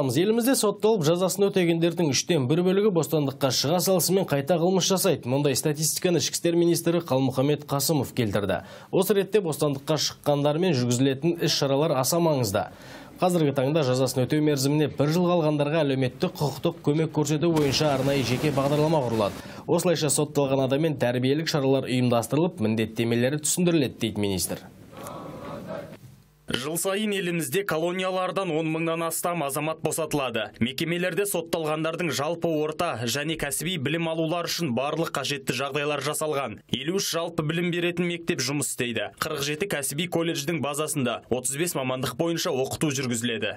Елімізде сотталып жазасын өтегендердің 3-тен 1 бөлігі бостандыққа шыға салысымен қайта қылмыс жасайды. Мұндай статистиканы Ішкі істер министрі Қалмұхаммед Қасымов келтірді. Осы ретте бостандыққа шыққандармен жүргізілетін іс-шаралар аса маңызды. Қазіргі таңда жазасын өтеу мерзіміне 1 жыл қалғандарға әлеуметтік құқықтық көмек көрсету бойынша арнайы жеке бағдарлама құрылады. Осылайша сотталған адаммен тәрбиелік шаралар ұйымдастырылып, міндеттемелері түсіндіріледі, дейді министр. Жыл сайын елімізде колониялардан 10 мыңнан астам азамат босатылады. Мекемелерде сотталғандардың жалпы орта және кәсіби білім алулар үшін барлық қажетті жағдайлар жасалған. 53 жалпы білім беретін мектеп жұмыс істейді. 47 кәсіби колледждің базасында 35 мамандық бойынша оқыту жүргізіледі.